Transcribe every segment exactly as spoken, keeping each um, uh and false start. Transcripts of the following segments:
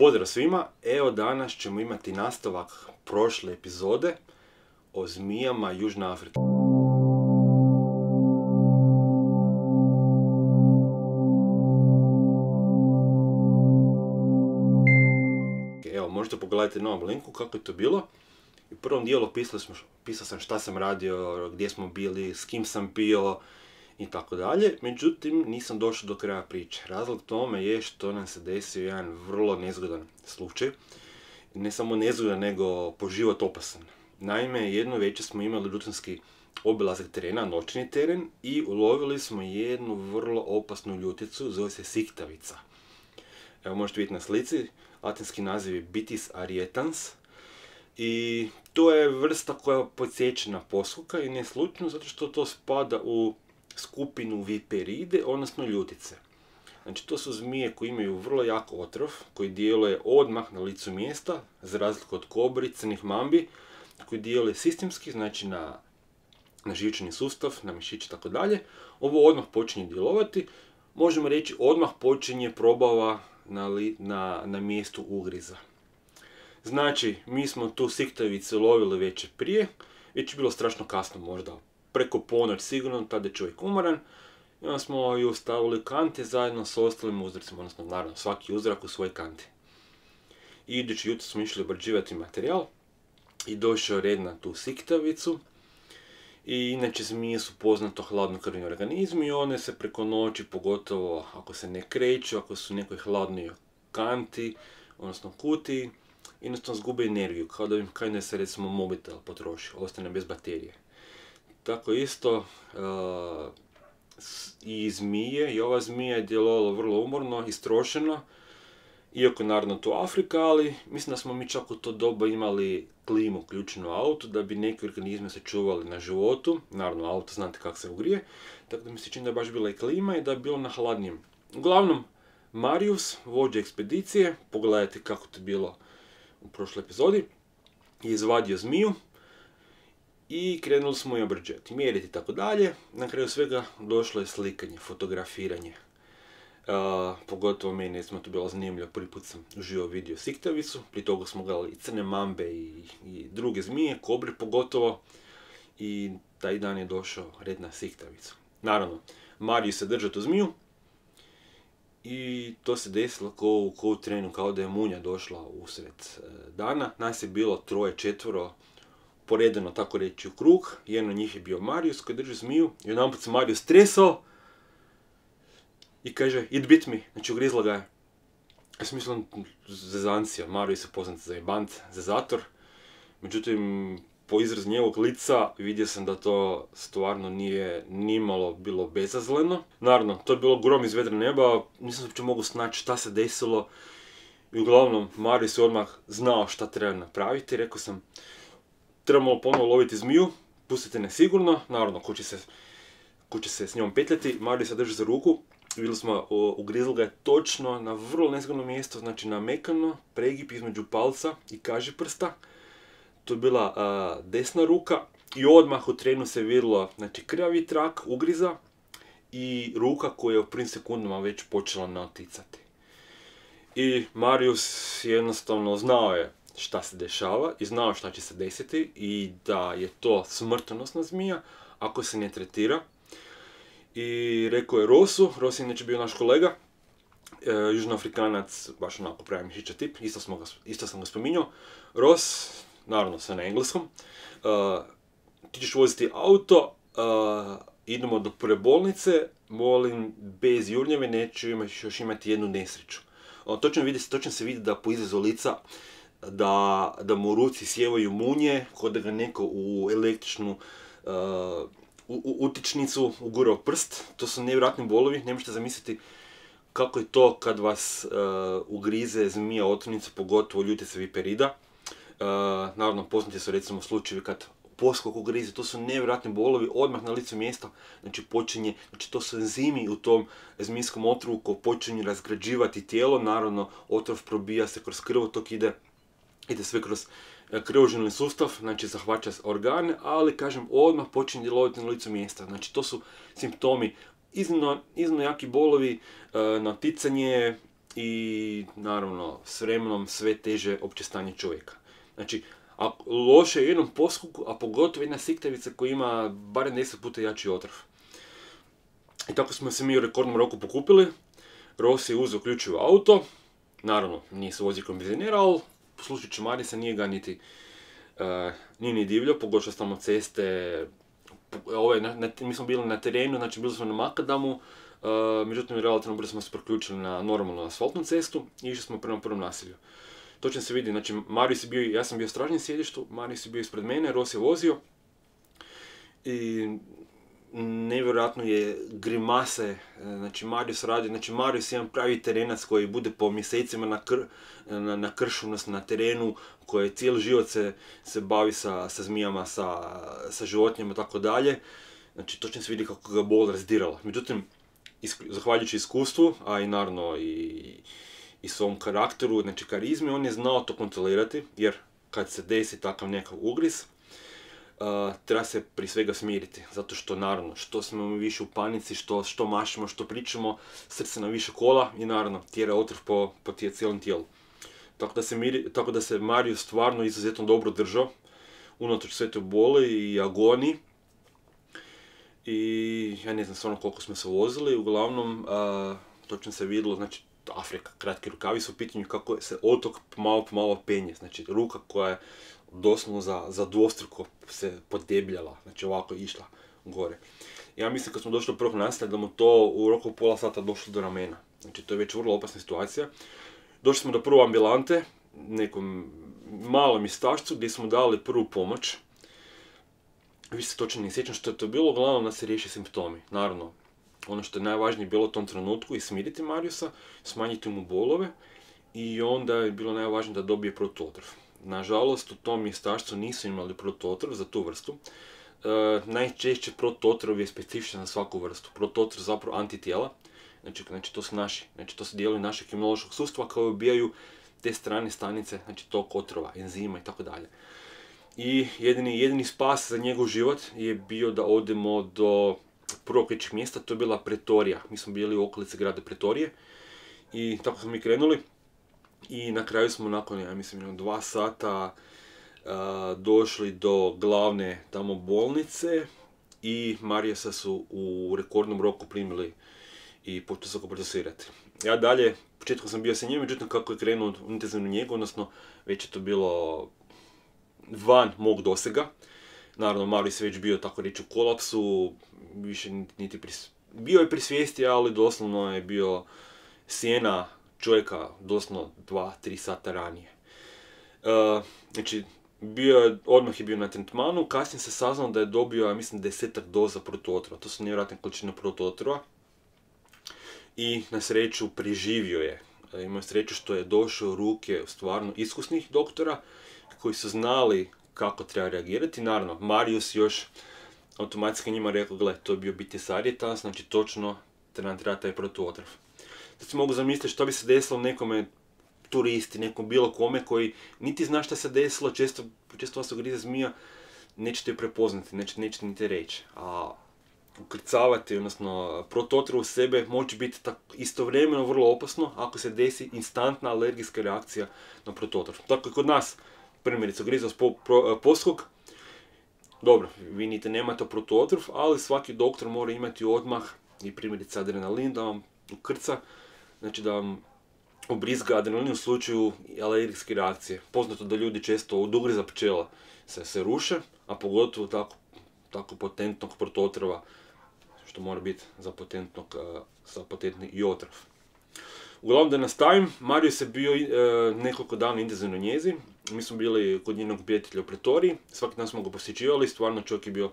Pozdrav svima, evo danas ćemo imati nastavak prošle epizode o zmijama Južne Afrike. Evo, možete pogledati na ovom linku kako je to bilo. U prvom dijelu pisao, smo, pisao sam šta sam radio, gdje smo bili, s kim sam pio i tako dalje. Međutim, nisam došao do kraja priče. Razlog tome je što nam se desio jedan vrlo nezgodan slučaj. Ne samo nezgodan, nego po život opasan. Naime, jedno večer smo imali rutinski obilazak terena, noćni teren, i ulovili smo jednu vrlo opasnu ljuticu, zove se siktavica. Evo možete vidjeti na slici, latinski naziv je Bitis arietans. I to je vrsta koja je podsjećena posluka i ne slučajno zato što to spada u skupinu viperide, odnosno ljutice. Znači to su zmije koje imaju vrlo jak otrov, koji djeluje odmah na licu mjesta, za razliku od kobri, crnih mambi, koji djeluje sistemski, znači na, na živčani sustav, na mišiće i tako dalje. Ovo odmah počinje djelovati, možemo reći odmah počinje probava na, li, na, na mjestu ugriza. Znači, mi smo tu siktavicu lovili večer prije, već je bilo strašno kasno, možda preko ponoć sigurno, tada je čovjek umoran, i onda smo ju stavili u kante zajedno s ostalim uzorcima, odnosno naravno svaki uzorak u svoje kante. I idući jutro smo išli obrađivati materijal i došao red na tu siktavicu. I inače zmije su poznato hladnokrvni organizmi i one se preko noći, pogotovo ako se ne kreću, ako su u nekoj hladnoj kanti, odnosno kutiji, jednostavno zgube energiju, kao da im kao da se recimo mobitel potroši, ostane bez baterije. Tako isto uh, i zmije, i ova zmija je djelovala vrlo umorno, istrošeno, iako naravno to Afrika, ali mislim da smo mi čak u to doba imali klimu uključenu u autu, da bi neki organizme se čuvali na životu, naravno auto znate kako se ugrije, tako da mi se čini da je baš bila i klima i da je bilo na hladnijem. Uglavnom, Marius, vođa ekspedicije, pogledajte kako to bilo u prošloj epizodi, je izvadio zmiju i krenuli smo je obrađivati, mjeriti i tako dalje. Na kraju svega došlo je slikanje, fotografiranje. Uh, pogotovo meni je to bilo zanimljivo, prvi put sam uživo vidio siktavicu, prije toga smo gledali i crne mambe i, i druge zmije, kobre pogotovo, i taj dan je došao red na siktavicu. Naravno, Marius se držao tu zmiju i to se desilo ko, ko u trenu, kao da je munja došla usred dana. Nas je bilo troje, četvoro, poredano tako reći u krug. Jedan od njih je bio Marius koji drži zmiju i jedanput se Marius tresao i kaže it bit me, znači ugrizla ga je. Ja sam mislio zezancija, Marius je poznat za jebant, za zator. Međutim, po izrazu njegovog lica vidio sam da to stvarno nije nimalo bilo bezazleno. Naravno, to je bilo grom iz vedra neba, nisam uopće mogu snaći šta se desilo. I uglavnom, Marius je odmah znao šta treba napraviti. Rekao sam, trebamo ponovno loviti zmiju, pustite ne sigurno, naravno, ko će se, ko će se s njom petljati. Marius se drži za ruku, vidjeli smo, ugrizli ga je točno na vrlo nezgodno mjesto, znači na mekano, pregib između palca i kažiprsta. To je bila a, desna ruka i odmah u trenu se vidjelo, znači, krvavi trak ugriza i ruka koja je u prvim sekundama već počela naticati. I Marius jednostavno znao je šta se dešava i znao šta će se desiti i da je to smrtonosna zmija ako se ne tretira. I rekao je Rosu, Ros je inače bio naš kolega, e, južnoafrikanac, baš onako pravi mišića tip, isto, smo ga, isto sam ga spominjao. Ros, naravno sve na engleskom, uh, ti ćeš voziti auto, uh, idemo do prve bolnice, molim, bez jurnjave, neću imaš, još imati jednu nesreću. Uh, točno, vidi, točno se vidi da po izrazu lica da, da mu u ruci sjevaju munje, kao da ga neko u električnu uh, u, u, utičnicu ugurao prst. To su nevjerojatni bolovi, ne možete zamisliti kako je to kad vas uh, ugrize zmija otrovnica, pogotovo ljutica viperida. Uh, naravno, poznati su recimo slučajevi kad poskok ugrize, to su nevjerojatni bolovi odmah na licu mjesta, znači počinje, znači to su enzimi u tom zmijskom otrovu koji počinju razgrađivati tijelo, naravno otrov probija se kroz krvotok, ide, ide sve kroz krvožilni sustav, znači zahvaća organe, ali kažem odmah počinje djelovati na licu mjesta, znači to su simptomi iznimno, iznimno jaki bolovi, uh, naticanje, i naravno s vremenom sve teže opće stanje čovjeka. Znači, a loše je u jednom poskoku, a pogotovo jedna siktavica koja ima barem deset puta jači otrov. I tako smo se mi u rekordnom roku pokupili, Rossi je uzeo ključ u auto, naravno nije se vozio kombinezionera, ali slušajući Marisa nije ga niti, uh, nije ni divljao, pogotovo tamo ceste, ove, na, na, mi smo bili na terenu, znači bili smo na Makadamu, uh, međutim relativno brzo smo se priključili na normalnu asfaltnu cestu i išli smo prema prvom naselju. Točno se vidi, znači Marius je bio, ja sam bio u stražnjem sjedištu, Marius je bio ispred mene, Rossi je vozio i nevjerojatno je grimase, znači Marius radi, znači Marius je jedan pravi terenac koji bude po mjesecima na, kr, na, na kršu, na terenu, koji cijeli život se, se bavi sa, sa zmijama, sa, sa životinjama i tako dalje. Znači točno se vidi kako ga bol razdirala. Međutim, isk, zahvaljujući iskustvu, a i naravno i, i svom karakteru, znači karizmi, on je znao to kontrolirati, jer kad se desi takav nekakav ugriz, Uh, treba se prije svega smiriti, zato što naravno, što smo mi više u panici, što, što mašimo, što pričamo, srce nam više kola i naravno tjera otrov po, po tije cijelom tijelu. Tako da se, miri, tako da se Marius stvarno izuzetno dobro držao, unatoč sve toj boli i agoniji. I ja ne znam stvarno koliko smo se vozili, uglavnom uh, točno se vidjelo, znači Afrika, kratki rukavi su u pitanju kako se otok malo po malo penje, znači ruka koja je doslovno za, za dvostruko se podebljala, znači ovako je išla gore. Ja mislim kad smo došli do prvog naselja da mu to u roku pola sata došlo do ramena, znači to je već vrlo opasna situacija. Došli smo do prve ambulante, nekom malom mjestašcu gdje smo dali prvu pomoć. Više se točno ne sjećam što je to bilo, uglavnom da se riješi simptomi. Naravno, ono što je najvažnije bilo u tom trenutku je smiriti Mariusa, smanjiti mu bolove i onda je bilo najvažnije da dobije protuotrov. Nažalost, u tom mjestašcu nisu imali protuotrov za tu vrstu. E, najčešće protuotrov je specifičan za svaku vrstu. Protuotrov zapravo antitijela, znači, znači to su naši, znači to su dijelovi našeg imunološkog sustava koji ubijaju te strane stanice, znači tog otrova, enzima i tako dalje. I jedini, jedini spas za njegov život je bio da odemo do prvog većeg mjesta, to je bila Pretorija. Mi smo bili u okolici grada Pretorije i tako smo mi krenuli. I na kraju smo nakon, ja mislim, dva sata uh, došli do glavne tamo bolnice i Mariusa su u rekordnom roku primili i počeli su ga procesirati. Ja dalje, početkom sam bio sa njim, međutim kako je krenuo u intenzivnu njegu, odnosno već je to bilo van mog dosega. Naravno, Marius je već bio, tako reći, u kolapsu, više niti pris... bio je pri svijesti, ali doslovno je bio sjena čovjeka doslovno dva tri sata ranije. Uh, znači, bio je, odmah je bio na tretmanu, kasnije se saznalo da je dobio, ja mislim, desetak doza protuotrova. To su nevjerojatne količine protuotrova. I na sreću preživio je. Uh, imao je sreću što je došao u ruke stvarno iskusnih doktora koji su znali kako treba reagirati. Naravno, Marius još automatski njima rekao, gle, to je bio bitisarijetas, znači točno nam treba taj protuotrov. Sad si mogu zamisliti što bi se desilo nekome turisti, nekom bilo kome koji niti zna šta se desilo, često, često vas grize zmija, nećete ju prepoznati, nećete, nećete niti reći. A ukrcavati, odnosno protuotrov u sebe može biti tako istovremeno vrlo opasno ako se desi instantna alergijska reakcija na protuotrov. Tako i kod nas, primjerice, grize vas po, po, poskok, dobro, vi niti nemate protuotrov, ali svaki doktor mora imati odmah i primjerice adrenalin da vam ukrca, znači da vam ubrizga adrenalin u slučaju alergijske reakcije. Poznato da ljudi često od ugriza pčela se, se ruše, a pogotovo tako, tako potentnog protuotrova, što mora biti za potentnog, za potentni i otrov. Uglavnom da nastavim, Marius je bio e, nekoliko dana intenzivno njezi. Mi smo bili kod njenog prijatelja u Pretoriji, svaki dan smo ga posjećivali, stvarno čovjek je bio u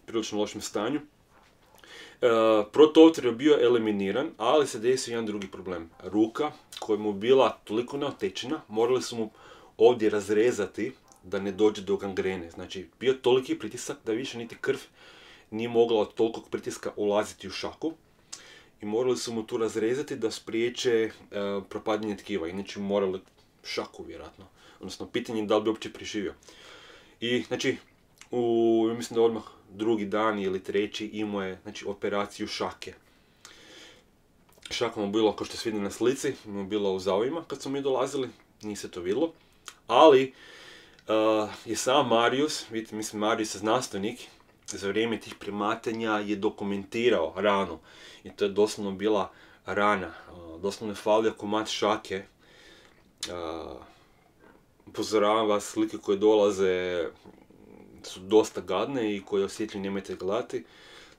prilično lošem stanju. Uh, protuotrov je bio eliminiran, ali se desio jedan drugi problem. Ruka koja mu bila toliko neotečena, morali su mu ovdje razrezati da ne dođe do gangrene. Znači, bio toliki pritisak da više niti krv nije mogla od tolikog pritiska ulaziti u šaku. I morali su mu tu razrezati da spriječe uh, propadanje tkiva, inače morali šaku vjerojatno. Odnosno, pitanje je da li bi uopće preživio. I, znači, u, mislim da odmah drugi dan ili treći imao je, znači, operaciju šake. Šaka mu bilo, kao što se vidi na slici, mu bilo u zaovima kad smo mi dolazili, nije se to vidjelo. Ali uh, je sam Marius, vidite, mislim Marius je znanstvenik, za vrijeme tih primatanja je dokumentirao ranu. I to je doslovno bila rana. Uh, doslovno je falio komad šake. Uh, upozoravam vas, slike koje dolaze su dosta gadne i koje osjetljivi nemojte gledati.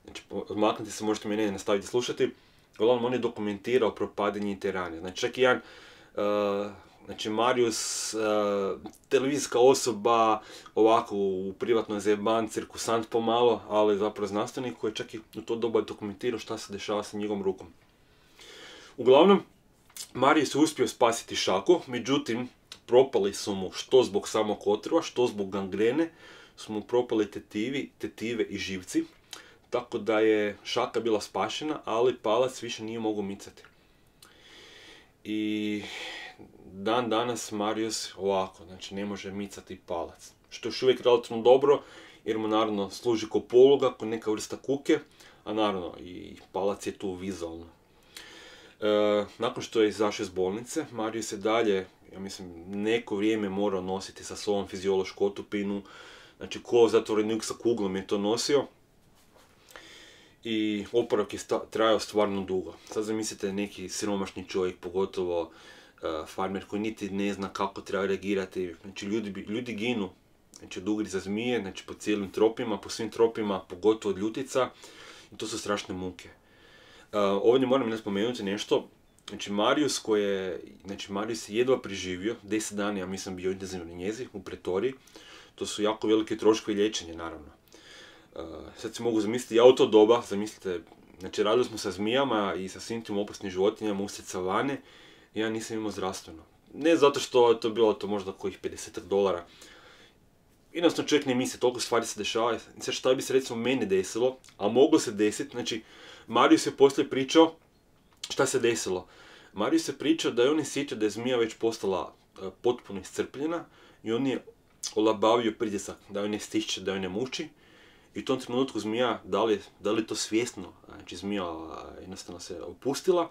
Znači, odmaknite se, možete me ne nastaviti slušati. Uglavnom, on je dokumentirao propadanje te rane. Znači, čak i jedan, uh, znači, Marius, uh, televizijska osoba, ovako u privatnoj zajeban, cirkusant pomalo, ali zapravo znanstvenik koji je čak i u to doba dokumentirao šta se dešava sa njegovom rukom. Uglavnom, Marius je uspio spasiti Šaku, međutim, propali su mu što zbog samog otrova, što zbog gangrene, su mu propali tetivi, tetive i živci. Tako da je Šaka bila spašena, ali palac više nije mogao micati. I dan danas Marius ovako, znači ne može micati palac. Što je još uvijek relativno dobro, jer mu naravno služi kao poluga, kao neka vrsta kuke, a naravno i palac je tu vizualno. E, nakon što je izašao iz bolnice, Marius je dalje, ja mislim, neko vrijeme morao nositi sa sobom fiziološku otupinu, znači ko zatvorenik sa kuglom je to nosio. I oporavak je trajao stvarno dugo. Sad zamislite neki siromašni čovjek, pogotovo uh, farmer koji niti ne zna kako treba reagirati. Znači ljudi, ljudi ginu, znači od ugriza zmije, znači po cijelim tropima, po svim tropima, pogotovo od ljutica. I to su strašne muke. Uh, ovdje moram ne spomenuti nešto. Znači Marius koji je, znači Marius je jedva preživio, deset dana ja mislim bio intenzivno njezi u pretoriji. To su jako velike troškovi liječenja naravno. Uh, sad si mogu zamisliti, ja u to doba, zamislite, znači radili smo sa zmijama i sa svim tim opasnim životinjama usred savane i ja nisam imao zdravstveno. Ne zato što je to bilo to možda kojih pedeset dolara. Jednostavno čovjek ne misli, toliko stvari se dešava. Sad šta bi se recimo meni desilo, a moglo se desiti, znači Marius je poslije pričao šta se desilo. Marius je pričao da je on osjetio da je zmija već postala uh, potpuno iscrpljena i on je olabavio pritisak, da joj ne stišće, da joj ne muči. I u tom trenutku zmija, da li, da li to svjesno, znači zmija jednostavno se opustila.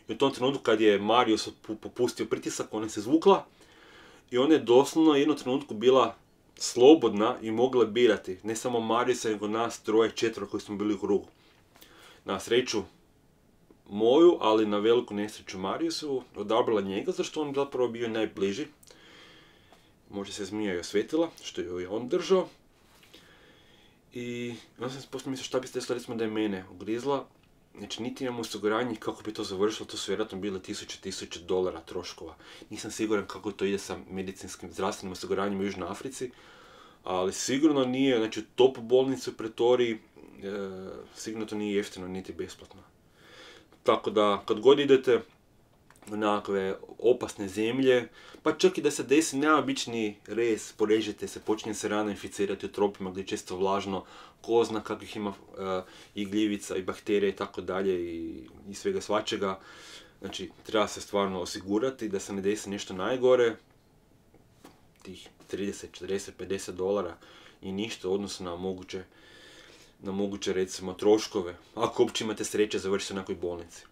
I u tom trenutku kad je Marius popustio pritisak, ona se zvukla. I ona je doslovno u jednom trenutku bila slobodna i mogla birati. Ne samo Mariusa, nego nas troje, četvero koji smo bili u krugu. Na sreću moju, ali na veliku nesreću Mariusu, odabrala njega, zašto on zapravo bio najbliži. Možda se zmija i osvetila, što je on držao. I onda sam poslije mislio šta bi se desilo recimo da je mene ugrizla. Znači niti imam osiguranje kako bi to završilo, to su vjerojatno bile tisuće, tisuće dolara troškova. Nisam siguran kako to ide sa medicinskim zdravstvenim osiguranjem u Južnoj Africi. Ali sigurno nije, znači u top bolnici u pretoriji, e, sigurno to nije jeftino niti besplatno. Tako da kad god idete u nekakve opasne zemlje, pa čak i da se desi neobični rez, porežete se, počinje se rana inficirati u tropima gdje je često vlažno, ko zna kakvih ima uh, i gljivica i bakterija i tako dalje i svega svačega. Znači, treba se stvarno osigurati da se ne desi nešto najgore, tih trideset, četrdeset, pedeset dolara i ništa u odnosu na moguće, na moguće recimo troškove, ako uopće imate sreće završiti u nekoj bolnici.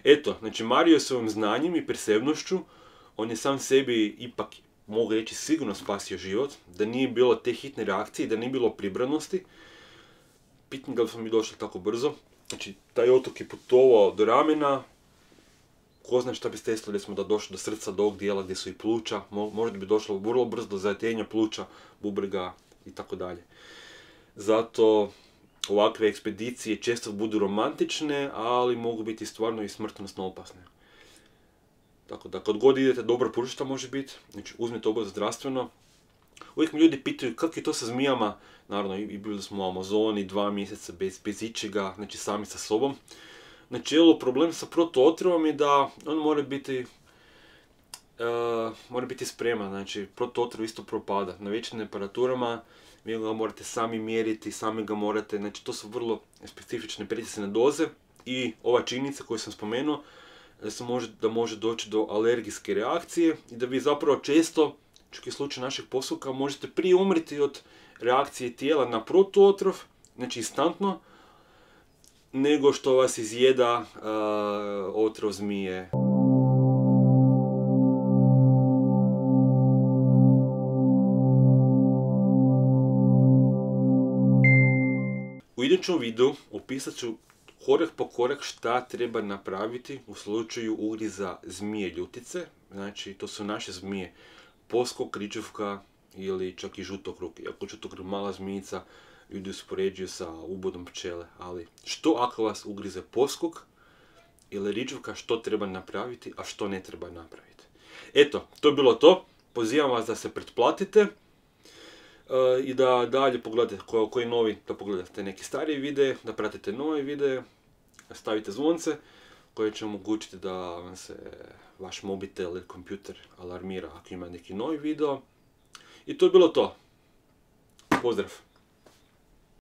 Eto, znači Mario svojim znanjem i prisebnošću, on je sam sebi ipak, mogu reći, sigurno spasio život, da nije bilo te hitne reakcije, da nije bilo pribranosti. Pitanje da li smo mi došli tako brzo. Znači, taj otok je putovao do ramena, ko zna šta bi se desilo recimo da došlo do srca, do ovog dijela gdje su i pluća, možda bi došlo vrlo brzo do zajetenja pluća, bubrega i tako dalje. Zato ovakve ekspedicije često budu romantične, ali mogu biti stvarno i smrtonosno opasne. Tako da kad god idete, dobro pušta može biti, znači uzmite obavezno zdravstveno. Uvijek mi ljudi pitaju kako je to sa zmijama, naravno i bili smo u Amazoni dva mjeseca bez, bez ičega, znači sami sa sobom. Znači, evo, problem sa protuotrovom je da on mora biti, uh, mora biti spreman, znači protuotrov isto propada. Na većim temperaturama vi ga morate sami mjeriti, sami ga morate, znači to su vrlo specifične pritisne doze i ova činjenica koju sam spomenuo, da, se može, da može doći do alergijske reakcije i da vi zapravo često, čak i slučaj našeg posluka, možete prije umriti od reakcije tijela na protuotrov, znači instantno, nego što vas izjeda uh, otrov zmije. U idućem videu opisat ću korak po korak šta treba napraviti u slučaju ugriza zmije ljutice. Znači, to su naše zmije poskok, kričevka ili čak i žutokruk. Iako žutokruk mala zmijica, ljudi uspoređuju sa ubodom pčele. Ali što ako vas ugrize poskok ili ričevka, što treba napraviti, a što ne treba napraviti. Eto, to je bilo to. Pozivam vas da se pretplatite. I da dalje pogledate ko, koji novi, da pogledate neki stariji videe, da pratite nove videe, stavite zvonce koje će omogućiti da vam se vaš mobitel ili kompjuter alarmira ako ima neki novi video. I to je bilo to. Pozdrav!